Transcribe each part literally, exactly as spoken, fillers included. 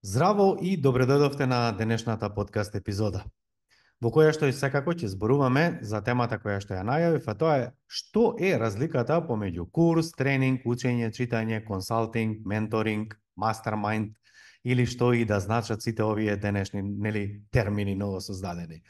Здраво и добре дојдовте на денешната подкаст епизода, во која што и секако ќе зборуваме за темата која што ја најавив, а тоа е што е разликата помеѓу курс, тренинг, учење, читање, консалтинг, менторинг, мастермајнд или што и да значат сите овие денешни, нели, термини ново создадени.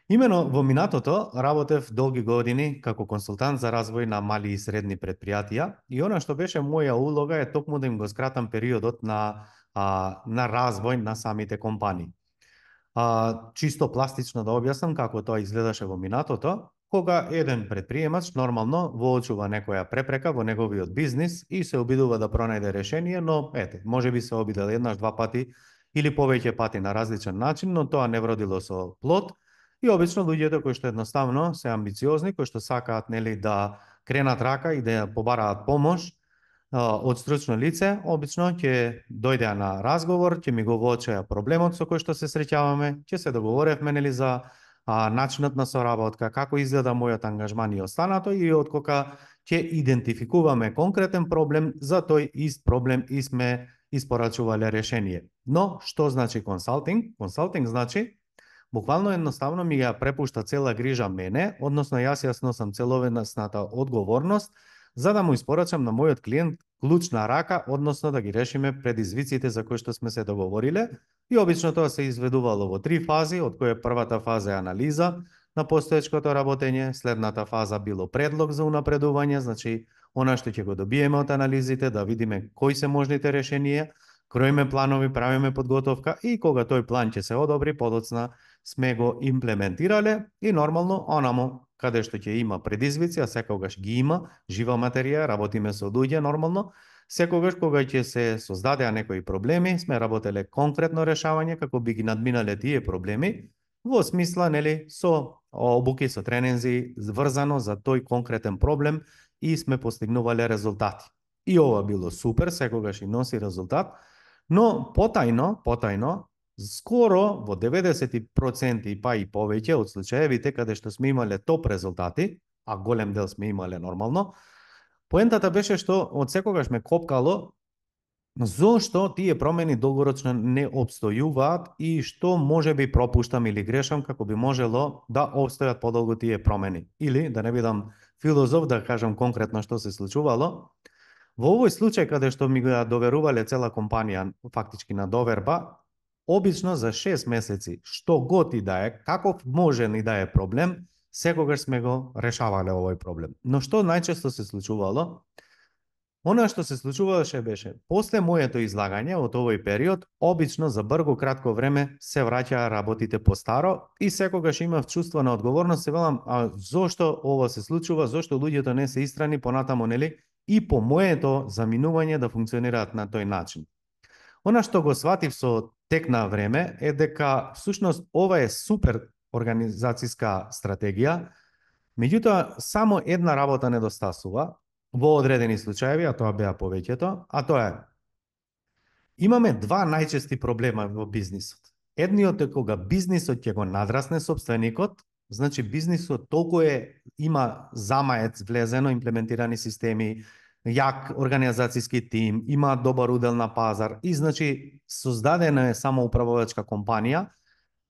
Имено во минатото работев долги години како консултант за развој на мали и средни предпријатија и она што беше моја улога е токму да им го скратам периодот на а, на развој на самите компании. А, чисто пластично да објаснам како тоа изгледаше во минатото, кога еден предприемач нормално воочува некоја препрека во неговиот бизнис и се обидува да пронајде решение, но ете, можеби се обидел еднаш, два пати или повеќе пати на различен начин, но тоа не вродило со плод. И обично луѓето кои што едноставно се амбициозни, кои што сакаат нели да кренат рака и да ја побараат помош од стручно лице, обично ќе дојдеа на разговор, ќе ми го воочеа проблемот со кој што се среќаваме, ќе се договоревме нели за а, начинот на соработка, како изгледа мојот ангажман и останато, и откока ќе идентификуваме конкретен проблем, за тој ист проблем и сме испорачувале решение. Но што значи консалтинг? Консалтинг значи буквално едноставно ми ја препушта цела грижа мене, односно јас ја сносам целовесната одговорност за да му испорачам на мојот клиент клучна рака, односно да ги решиме предизвиците за кои што сме се договориле. И обично тоа се изведувало во три фази, од која првата фаза е анализа на постоечкото работење, следната фаза било предлог за унапредување, значи она што ќе го добиеме од анализите, да видиме кои се можните решенија, кроиме планови, правиме подготовка и кога тој план ќе се одобри, подоцна сме го имплементирале и нормално онамо каде што ќе има предизвици, а секогаш ги има, жива материја, работиме со луѓе нормално, секогаш кога ќе се создадеа некои проблеми, сме работеле конкретно решавање како би ги надминале тие проблеми, во смисла нели со обуки, со тренинзи, врзано за тој конкретен проблем и сме постигнувале резултати. И ова било супер, секогаш и носи резултат, но потајно, потајно, скоро во деветдесет проценти па и повеќе од случаевите каде што сме имале топ резултати, а голем дел сме имале нормално, поентата беше што од секогаш ме копкало зошто тие промени долгорочно не обстојуваат и што може би пропуштам или грешам како би можело да обстојат подолго тие промени. Или, да не бидам филозоф, да кажам конкретно што се случувало, во овој случај каде што ми го доверувале цела компанија фактички на доверба, обично за шест месеци, што год и да е, каков можен и да е проблем, секогаш сме го решавале овој проблем. Но што најчесто се случувало? Она што се случуваше беше, после моето излагање од овој период, обично за брго кратко време се враќаа работите по старо и секогаш имав чувство на одговорност, се велам, а зошто ова се случува, зошто луѓето не се истрани понатамо, нели, и по моето заминување да функционираат на тој начин. Она што го сватив со тек на време е дека всушност ова е супер организацијска стратегија, меѓутоа само една работа недостасува во одредени случаеви, а тоа беа повеќето, а тоа е имаме два најчести проблема во бизнисот. Едниот е кога бизнисот ќе го надрасне собственикот, значи бизнисот толку е има замаец влезено, имплементирани системи, јак организацијски тим, има добар удел на пазар и значи создадена е самоуправувачка компанија,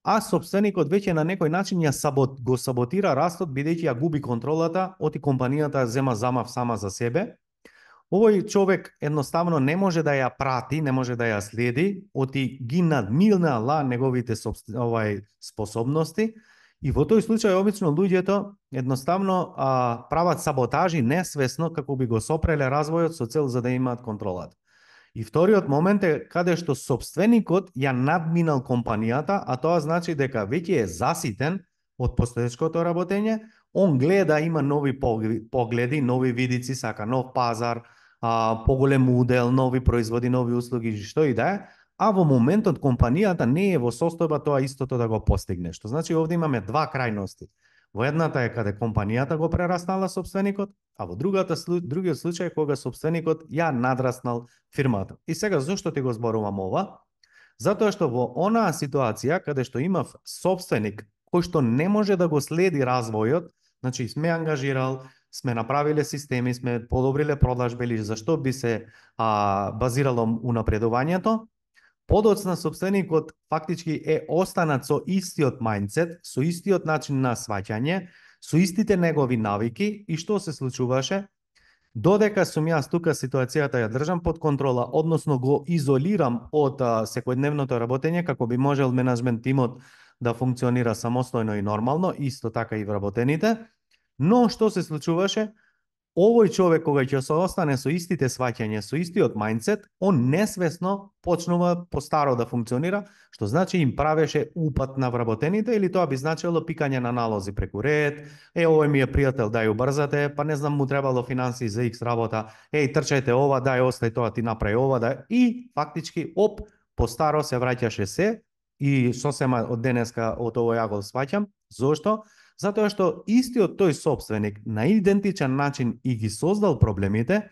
а собственикот веќе на некој начин ја сабот, го саботира растот бидејќи ја губи контролата, оти компанијата зема замав сама за себе. Овој човек едноставно не може да ја прати, не може да ја следи, оти ги надминала неговите овај способности. И во тој случај обично луѓето едноставно а, прават саботажи несвесно како би го сопреле развојот со цел за да имаат контролата. И вториот момент е каде што собственикот ја надминал компанијата, а тоа значи дека веќе е заситен од постоечкото работење, он гледа, има нови погледи, нови видици, сака нов пазар, а, поголем удел, нови производи, нови услуги, што и да е, а во моментот компанијата не е во состојба тоа истото да го постигне. Што значи овде имаме два крајности. Во едната е каде компанијата го прераснала собственикот, а во другата другиот случај кога собственикот ја надраснал фирмата. И сега зошто ти го зборувам ова? Затоа што во онаа ситуација каде што имав собственик кој што не може да го следи развојот, значи сме ангажирал, сме направиле системи, сме подобриле продажби или зашто би се а, базирало унапредувањето, подоцна собственикот фактички е останат со истиот мајндсет, со истиот начин на сваќање, со истите негови навики и што се случуваше? Додека сум јас тука ситуацијата ја држам под контрола, односно го изолирам од а, секојдневното работење, како би можел менаџмент тимот да функционира самостојно и нормално, исто така и вработените. Но што се случуваше? Овој човек кога ќе се остане со истите сваќања, со истиот мајндсет, он несвесно почнува постаро да функционира, што значи им правеше упат на вработените или тоа би значило пикање на налози преку ред, е, овој ми е пријател, дај убрзате, па не знам му требало финансии за икс работа, еј, трчајте ова, дај остај тоа, ти направи ова, дај, и фактички, оп, постаро се враќаше се, и сосема од денеска од ово ја го сваќам. Зошто? Затоа што истиот тој собственик на идентичен начин и ги создал проблемите,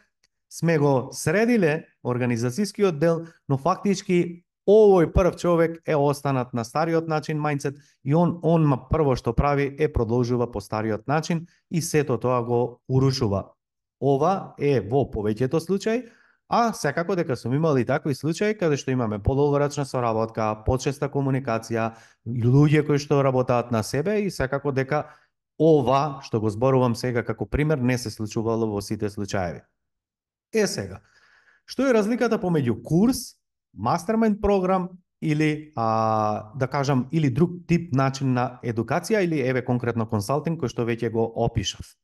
сме го средиле организацијскиот дел, но фактички овој прв човек е останат на стариот начин мајндсет и он он прво што прави е продолжува по стариот начин и сето тоа го урушува. Ова е во повеќето случаи, а секако дека сум имал и такви случаи каде што имаме подолгорачна соработка, почеста комуникација, луѓе кои што работаат на себе и секако дека ова што го зборувам сега како пример не се случувало во сите случаеви. Е сега, што е разликата помеѓу курс, мастермајнд програм или а, да кажам или друг тип начин на едукација или еве конкретно консалтинг кој што веќе го опишав?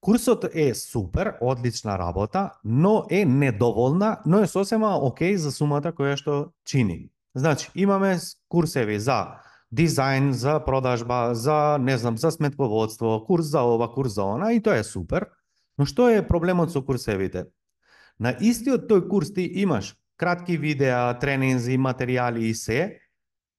Курсот е супер, одлична работа, но е недоволна, но е сосема окей за сумата која што чини. Значи, имаме курсеви за дизајн, за продажба, за, не знам, за сметководство, курс за ова, курс за она, и тоа е супер. Но што е проблемот со курсевите? На истиот тој курс ти имаш кратки видеа, тренинзи, материјали и се,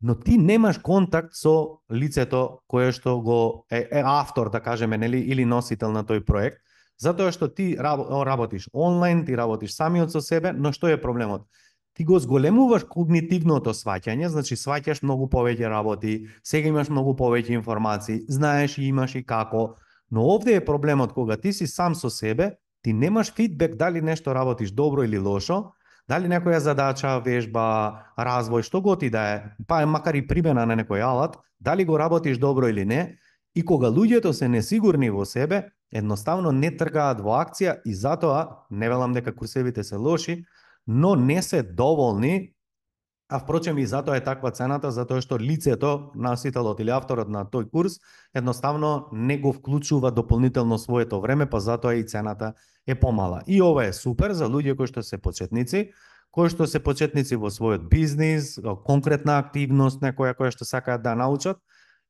но ти немаш контакт со лицето кое што го е, е автор, да кажеме, нели, или носител на тој проект, затоа што ти работиш онлайн, ти работиш самиот со себе, но што е проблемот? Ти го зголемуваш когнитивното сваќање, значи сваќаш многу повеќе работи, сега имаш многу повеќе информации, знаеш и имаш и како, но овде е проблемот кога ти си сам со себе, ти немаш фидбек дали нешто работиш добро или лошо, дали некоја задача, вежба, развој, што готи да е, па макар и примена на некој алат, дали го работиш добро или не, и кога луѓето се несигурни во себе, едноставно не тргаат во акција и затоа, не велам дека курсевите се лоши, но не се доволни, а впрочем и затоа е таква цената, затоа што лицето, носителот или авторот на тој курс, едноставно не го вклучува дополнително своето време, па затоа и цената е помала. И ова е супер за луѓе кои што се почетници, кои што се почетници во својот бизнис, конкретна активност, некоја која што сакаат да научат,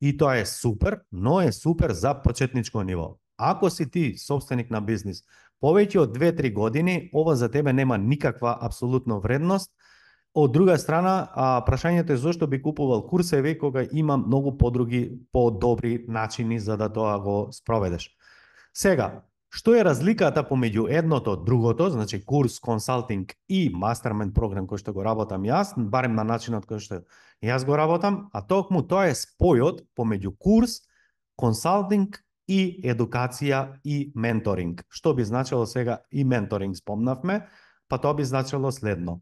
и тоа е супер, но е супер за почетничко ниво. Ако си ти собственик на бизнис повеќе од две-три години, ова за тебе нема никаква апсолутно вредност. Од друга страна, а, прашањето е зошто би купувал курсеви кога има многу подруги, подобри начини за да тоа го спроведеш. Сега, што е разликата помеѓу едното, другото, значи курс, консалтинг и мастермајнд програм кој што го работам јас, барем на начинот кој што јас го работам, а токму тоа е спојот помеѓу курс, консалтинг и едукација и менторинг. Што би значило сега и менторинг спомнавме, па тоа би значило следно.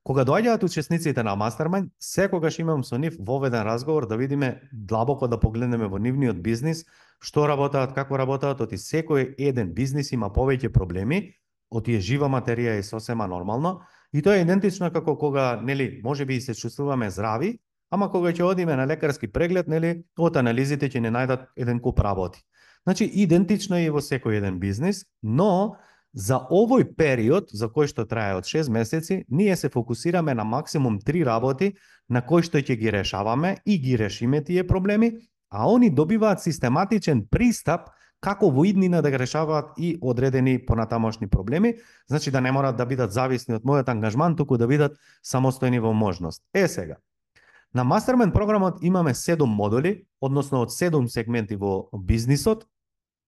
Кога доаѓаат учесниците на мастермајнд, секогаш имам со нив воведен разговор да видиме длабоко да погледнеме во нивниот бизнис, што работаат, како работаат, оти секој еден бизнис има повеќе проблеми, оти е жива материја и сосема нормално, и тоа е идентично како кога, нели, можеби и се чувствуваме здрави, ама кога ќе одиме на лекарски преглед, нели, од анализите ќе не најдат еден куп работи. Значи, идентично е и во секој еден бизнис, но за овој период, за кој што трае од шест месеци, ние се фокусираме на максимум три работи на кои што ќе ги решаваме и ги решиме тие проблеми, а они добиваат систематичен пристап како во иднина да ги решаваат и одредени понатамошни проблеми, значи да не морат да бидат зависни од мојот ангажман, туку да бидат самостојни во можност. Е сега, на мастермајнд програмот имаме седум модули, односно од седум сегменти во бизнисот,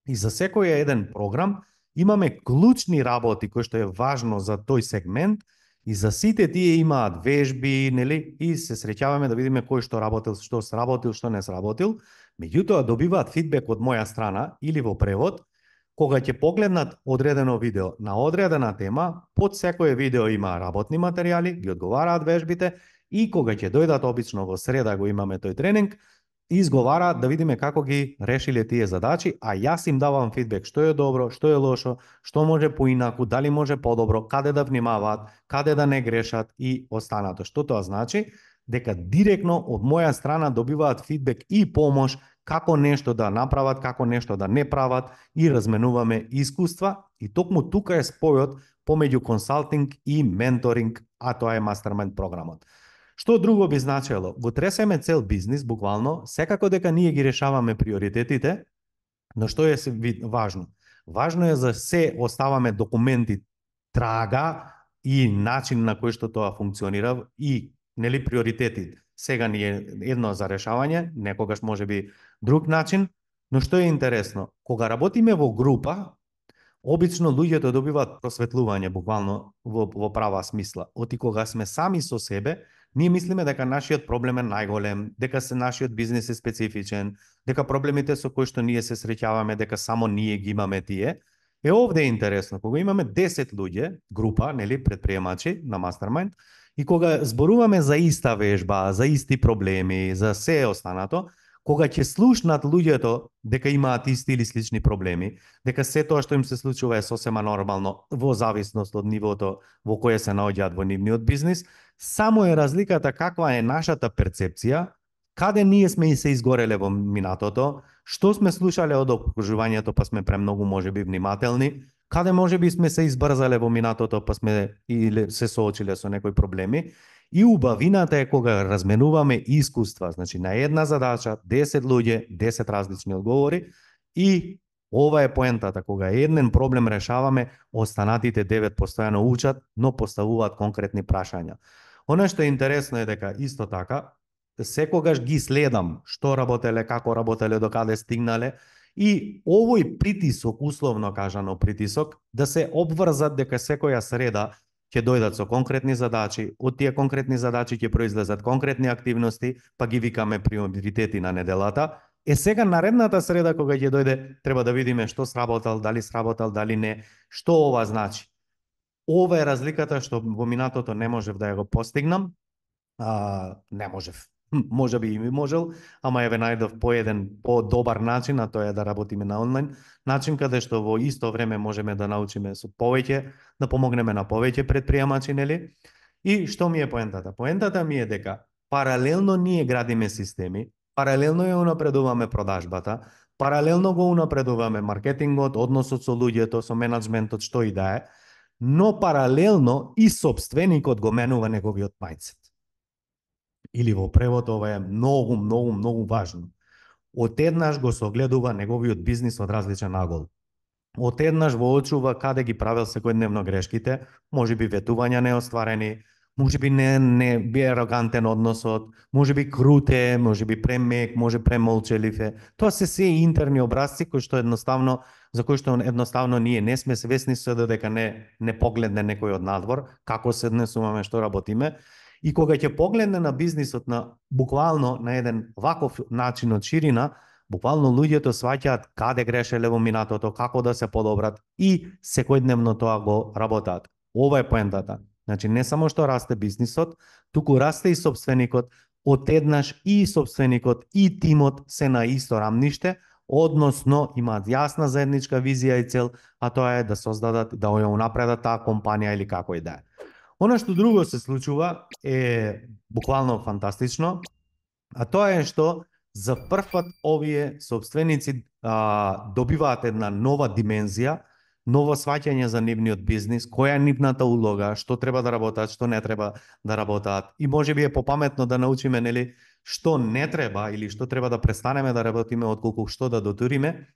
и за секој еден програм имаме клучни работи кои што е важно за тој сегмент и за сите тие имаат вежби, нели, и се среќаваме да видиме кој што работил, што сработил, што не сработил. Меѓутоа добиваат фидбек од моја страна или во превод, кога ќе погледнат одредено видео на одредена тема, под секое видео има работни материјали, ги одговараат вежбите, и кога ќе дојдат обично во среда го имаме тој тренинг, изговараат да видиме како ги решиле тие задачи, а јас им давам фидбек што е добро, што е лошо, што може поинаку, дали може подобро, каде да внимаваат, каде да не грешат и останато. Што тоа значи? Дека директно од моја страна добиваат фидбек и помош како нешто да направат, како нешто да не прават, и разменуваме искуства, и токму тука е спојот помеѓу консалтинг и менторинг, а тоа е мастермајнд програмот. Што друго би значело? Во Тресеме цел бизнис, буквално, секако дека ние ги решаваме приоритетите, но што е важно? Важно е за се оставаме документи, трага и начин на кој што тоа функционира, и нели приоритети. Сега ни е едно за решавање, некогаш може би друг начин, но што е интересно, кога работиме во група, обично луѓето добиваат просветлување буквално во, во права смисла. Оти кога сме сами со себе, ние мислиме дека нашиот проблем е најголем, дека се нашиот бизнес е специфичен, дека проблемите со кои што ние се среќаваме, дека само ние ги имаме тие. Е, овде е интересно, кога имаме десет луѓе, група, нели, предприемачи на мастермајнд, и кога зборуваме за иста вежба, за исти проблеми, за се останато, кога ќе слушнат луѓето дека имаат исти или слични проблеми, дека се тоа што им се случува е сосема нормално во зависност од нивото во кое се наоѓаат во нивниот бизнис, само е разликата каква е нашата перцепција, каде ние сме и се изгореле во минатото, што сме слушале од окружувањето па сме премногу можеби внимателни, каде можеби сме се избрзале во минатото па сме или се соочиле со некои проблеми. И убавината е кога разменуваме искуства, значи на една задача, десет луѓе, десет различни одговори, и ова е поентата, кога еден проблем решаваме, останатите девет постојано учат, но поставуваат конкретни прашања. Она што е интересно е дека исто така, секогаш ги следам што работеле, како работеле, до каде стигнале, и овој притисок, условно кажано притисок, да се обврзат дека секоја среда ќе дојдат со конкретни задачи, од тие конкретни задачи ќе произлезат конкретни активности, па ги викаме приоритети на неделата. Е, сега наредната среда кога ќе дојде, треба да видиме што сработал, дали сработал, дали не, што ова значи. Ова е разликата што во минатото не можев да ја го постигнам, а, не можев. Може би и ми можел, ама еве најдов по еден по-добар начин, а тоа е да работиме на онлайн начин, каде што во исто време можеме да научиме со повеќе, да помогнеме на повеќе предприемачи, нели? И што ми е поентата? Поентата ми е дека паралелно ние градиме системи, паралелно ја унапредуваме продажбата, паралелно го унапредуваме маркетингот, односот со луѓето, со менаџментот, што и да е, но паралелно и сопственикот го менува неговиот мајндсет. Или во превод ова е многу, многу, многу важно. Отеднаш го согледува неговиот бизнис од различен агол. Отеднаш воочува каде ги правел секојдневно грешките, може би ветувања неостварени, може би не, не би арогантен односот, може би круте, може би премек, може премолчелив е. Тоа се се интерни образци кои што едноставно, за кои што едноставно ние не сме свесни се додека не, не погледне некој од надвор, како се однесуваме, што работиме. И кога ќе погледне на бизнисот на буквално на еден ваков начин од ширина, буквално луѓето сваќаат каде грешеле во минатото, како да се подобрат, и секојдневно тоа го работат. Ова е поентата. Значи не само што расте бизнисот, туку расте и сопственикот, отеднаш и сопственикот и тимот се на исто рамниште, односно имаат јасна заедничка визија и цел, а тоа е да создадат, да ја унапредат таа компанија или како и да е. Оно што друго се случува е буквално фантастично, а тоа е што за прв пат овие собственици а, добиваат една нова димензија, ново сваќање за нивниот бизнис, која е нивната улога, што треба да работат, што не треба да работат. И можеби е попаметно да научиме, нели, што не треба или што треба да престанеме да работиме отколку што да дотуриме.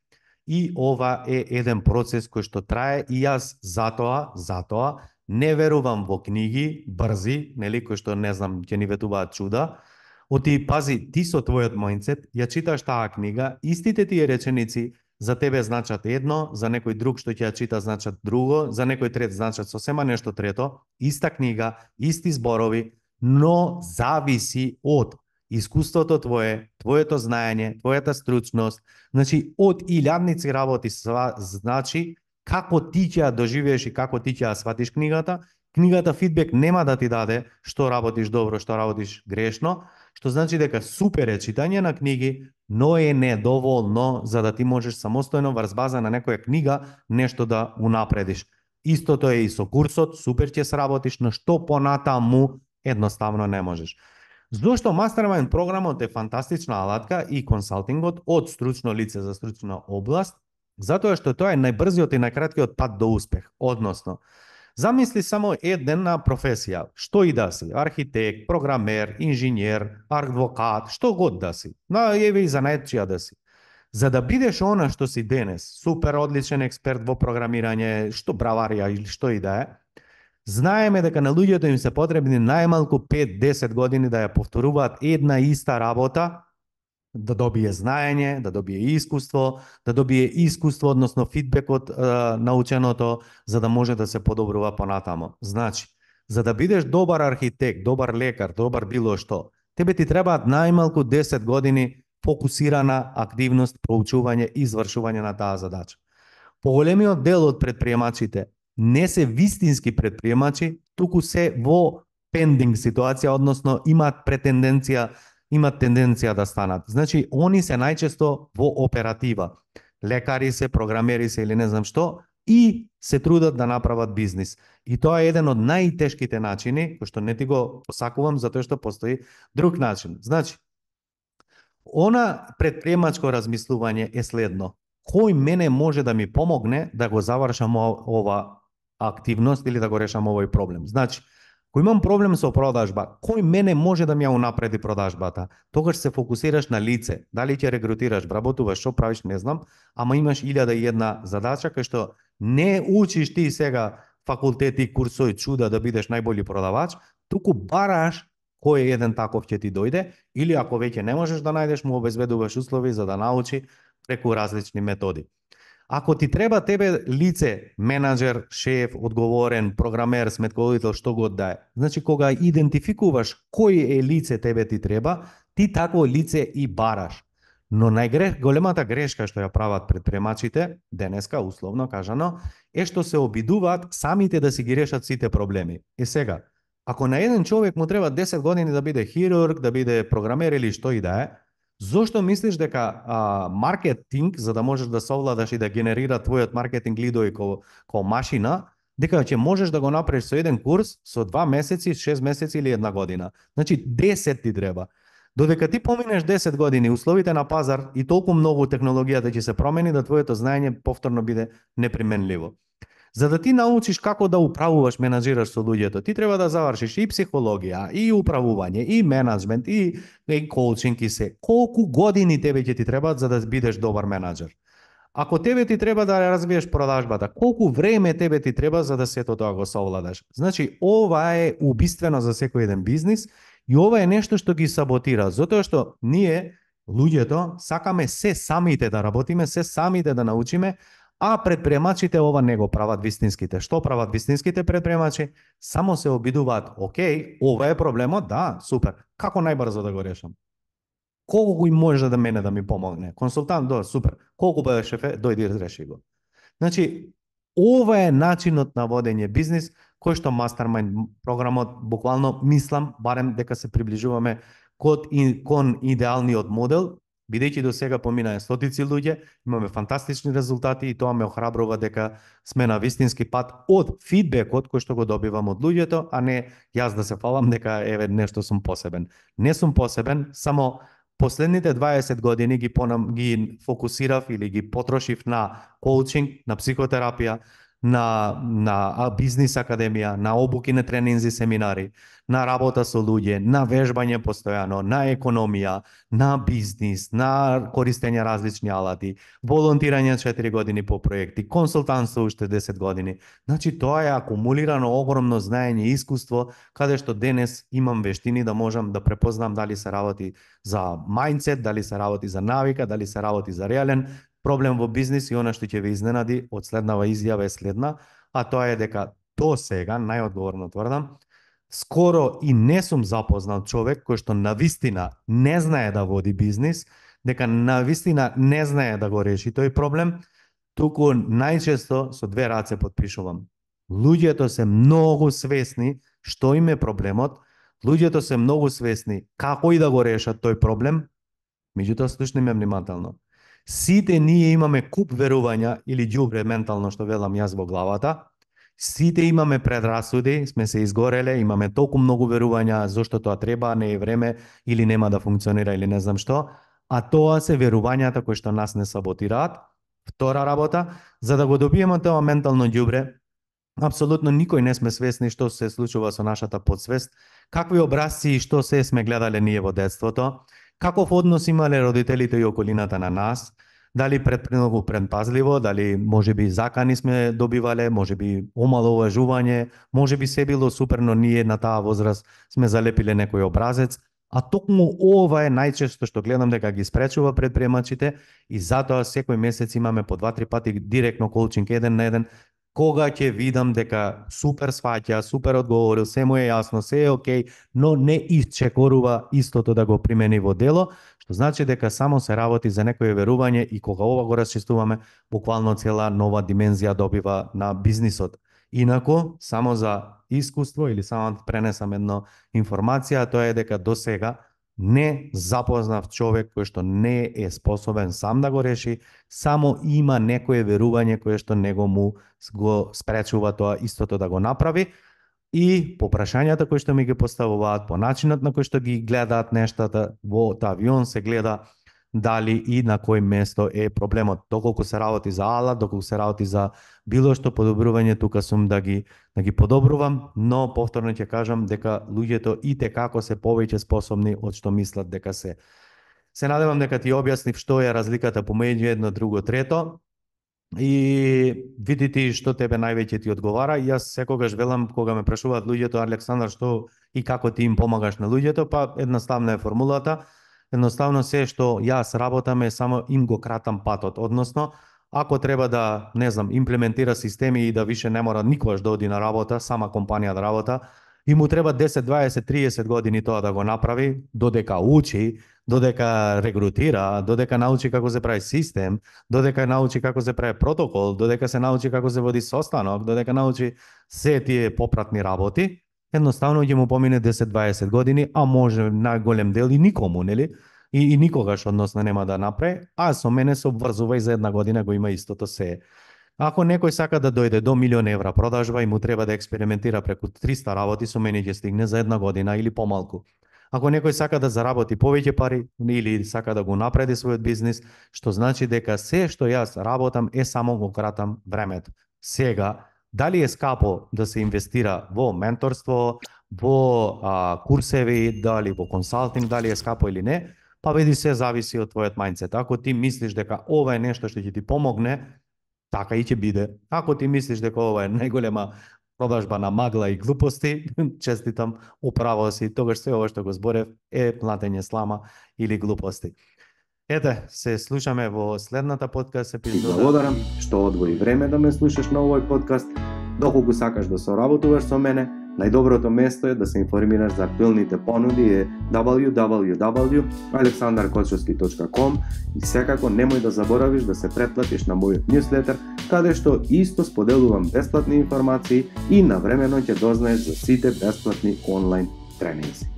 И ова е еден процес кој што трае, и јас затоа, затоа не верувам во книги брзи, нели, кои што не знам ќе ни ветуваат чуда. Оти пази, ти со твојот мајндсет ја читаш таа книга, истите тие реченици за тебе значат едно, за некој друг што ќе ја чита значат друго, за некој трет значат сосема нешто трето, иста книга, исти зборови, но зависи од искуството твое, твоето знаење, твојата стручност, значи од илјадници работи, значи како ти ќе ја доживееш и како ти ќе ја сватиш книгата. Книгата фидбек нема да ти даде што работиш добро, што работиш грешно, што значи дека супер е читање на книги, но е недоволно за да ти можеш самостојно врз база на некоја книга нешто да унапредиш. Истото е и со курсот, супер ќе сработиш, но што понатаму едноставно не можеш. Зошто Mastermind програмот е фантастична алатка и консалтингот од стручно лице за стручна област, затоа што тоа е најбрзиот и најкраткиот пат до успех. Односно, замисли само една професија, што и да си, архитект, програмер, инженер, адвокат, што год да си, на еве и занаетчија да си. За да бидеш она што си денес, супер одличен експерт во програмирање, што браварија или што и да е, знаеме дека на луѓето им се потребни најмалку пет до десет години да ја повторуваат една иста работа, да добие знаење, да добие искуство, да добие искуство, односно фидбек од е, наученото, за да може да се подобрува понатамо. Значи, за да бидеш добар архитект, добар лекар, добар било што, тебе ти требаат најмалку десет години фокусирана активност, проучување и извршување на таа задача. Поголемиот дел од предприемачите не се вистински предприемачи, туку се во пендинг ситуација, односно имаат претенденција, имаат тенденција да станат. Значи, они се најчесто во оператива. Лекари се, програмери се или не знам што, и се трудат да направат бизнис. И тоа е еден од најтешките начини, кој што не ти го посакувам, затоа што постои друг начин. Значи, она предприемачко размислување е следно. Кој мене може да ми помогне да го завршам ова активност или да го решам овој проблем? Значи, ако имам проблем со продажба, кој мене може да ми ја унапреди продажбата? Тогаш се фокусираш на лице. Дали ќе рекрутираш, вработуваш, што правиш, не знам, ама имаш илјада и една задача кај што не учиш ти сега факултети, курсови, чуда да бидеш најболи продавач, туку бараш кој еден таков ќе ти дојде, или ако веќе не можеш да најдеш, му обезбедуваш услови за да научи преку различни методи. Ако ти треба тебе лице, менаџер, шеф, одговорен, програмер, сметководител, што год да е, значи кога идентификуваш кој е лице тебе ти треба, ти такво лице и бараш. Но најголемата грешка што ја прават предприемачите, денеска условно кажано, е што се обидуваат самите да си ги решат сите проблеми. И сега, ако на еден човек му треба десет години да биде хирург, да биде програмер или што и да е, зошто мислиш дека а, маркетинг, за да можеш да совладаш и да генерира твојот маркетинг лидови ко, ко машина, дека ќе можеш да го направиш со еден курс, со два месеци, шест месеци или една година? Значи десет ти треба. Додека ти поминеш десет години, условите на пазар и толку многу технологијата ќе се промени да твоето знаење повторно биде неприменливо. За да ти научиш како да управуваш, менаџираш со луѓето, ти треба да завршиш и психологија, и управување, и менаџмент, и, и коучинг и се. Колку години тебе ќе ти требаат за да бидеш добар менаџер? Ако тебе ти треба да развиеш продажбата, колку време тебе ти треба за да сето тоа го совладаш? Значи, ова е убиствено за секој еден бизнис и ова е нешто што ги саботира, затоа што ние, луѓето, сакаме се самите да работиме, се самите да научиме, а предприемачите ова не го прават вистинските. Што прават вистинските предприемачи? Само се обидуваат, окей, ова е проблемот, да, супер. Како најбрзо да го решам? Колку им може да мене да ми помогне? Консултант, да, супер. Колку бе шефе, дојди и реши го. Значи, ова е начинот на водење бизнис, кој што Mastermind програмот, буквално мислам, барем дека се приближуваме кон идеалниот модел. Бидејќи до сега поминаа стотици луѓе, имаме фантастични резултати и тоа ме охрабрува дека сме на вистински пат од фидбекот кој што го добивам од луѓето, а не јас да се фалам дека еве нешто сум посебен. Не сум посебен, само последните дваесет години ги понам ги фокусирав или ги потрошив на коучинг, на психотерапија, на на бизнис академија, на обуки, на тренинзи, семинари, на работа со луѓе, на вежбање постојано, на економија, на бизнис, на користење различни алати, волонтирање четири години по проекти, консултантство уште десет години. Значи тоа е акумулирано огромно знаење и искуство, каде што денес имам вештини да можам да препознам дали се работи за мајндсет, дали се работи за навика, дали се работи за реален проблем во бизнис. И она што ќе ве изненади од следнава изјава е следна, а тоа е дека до сега, најодговорно тврдам, Скоро и не сум запознал човек кој што навистина не знае да води бизнис, дека навистина не знае да го реши тој проблем, туку најчесто со две раце потпишувам. Луѓето се многу свесни што им е проблемот, луѓето се многу свесни како и да го решат тој проблем, меѓутоа слушни ме внимателно. Сите ние имаме куп верувања или ѓубре ментално што велам јас во главата. Сите имаме предрасуди, сме се изгореле, имаме толку многу верувања зошто тоа треба, не е време или нема да функционира или не знам што, а тоа се верувањата кои што нас не саботираат. Втора работа, за да го добиеме тоа ментално ѓубре, апсолутно никој не сме свесни што се случува со нашата подсвест, какви образци и што се сме гледале ние во детството, каков однос имале родителите и околината на нас, дали предпремногу предпазливо, дали можеби закани сме добивале, можеби омаловажување, можеби се било супер, но ние на таа возраст сме залепиле некој образец, а токму ова е најчесто што гледам дека ги спречува предприемачите и затоа секој месец имаме по два-три пати директно коучинг еден на еден, кога ќе видам дека супер сваќа, супер одговорил, се му е јасно, се е окей, но не исчекорува истото да го примени во дело, што значи дека само се работи за некое верување и кога ова го расчистуваме, буквално цела нова димензија добива на бизнисот. Инаку, само за искуство или само да пренесам едно информација, тоа е дека до сега не запознав човек кој што не е способен сам да го реши, само има некое верување кое што него му го спречува тоа истото да го направи. И по прашањата кои што ми ги поставуваат, по начинот на кој што ги гледаат нештата, во авион се гледа дали и на кој место е проблемот. Доколку се работи за алат, доколку се работи за било што подобрување, тука сум да ги да ги подобрувам, но повторно ќе кажам дека луѓето и те како се повеќе способни од што мислат дека се. Се надевам дека ти објаснив што е разликата помеѓу едно, друго, трето. И види ти што тебе највеќе ти одговара. И јас секогаш велам кога ме прашуваат луѓето, Александар, што и како ти им помагаш на луѓето, па едноставна е формулата. Едноставно се што јас работам е само им го кратам патот, односно ако треба да, не знам, имплементира системи и да више не мора никогаш да оди на работа, сама компанија да работа, и му треба десет, дваесет, триесет години тоа да го направи, додека учи, додека регрутира, додека научи како се прави систем, додека научи како се прави протокол, додека се научи како се води состанок, додека научи се тие попратни работи, едноставно ќе му помине десет, дваесет години, а може најголем дел и никому, нели? И, и никогаш односно нема да направи, а со мене се обврзува и за една година го има истото се. Ако некој сака да дојде до милион евра продажба и му треба да експериментира преку триста работи, со мене ќе стигне за една година или помалку. Ако некој сака да заработи повеќе пари или сака да го напреди својот бизнис, што значи дека се што јас работам е само го кратам времето. Сега, дали е скапо да се инвестира во менторство, во а, курсеви, дали во консалтинг, дали е скапо или не, па види се зависи од твојот мајндсет. Ако ти мислиш дека ова е нешто што ќе ти помогне, така и ќе биде. Ако ти мислиш дека ова е најголема продажба на магла и глупости, честитам, управо си, тогаш се ова што го зборев е младење слама или глупости. Ете, се слушаме во следната подкаст епизода. Ти благодарам што одвои време да ме слушаш на овој подкаст. Доколку сакаш да соработуваш со мене, најдоброто место е да се информираш за актуелните понуди е дабл ю дабл ю дабл ю точка александар кочовски точка ком и секако немој да заборавиш да се претплатиш на мојот ньюслетер, каде што исто споделувам бесплатни информации и навремено ќе дознаеш за сите бесплатни онлайн тренинзи.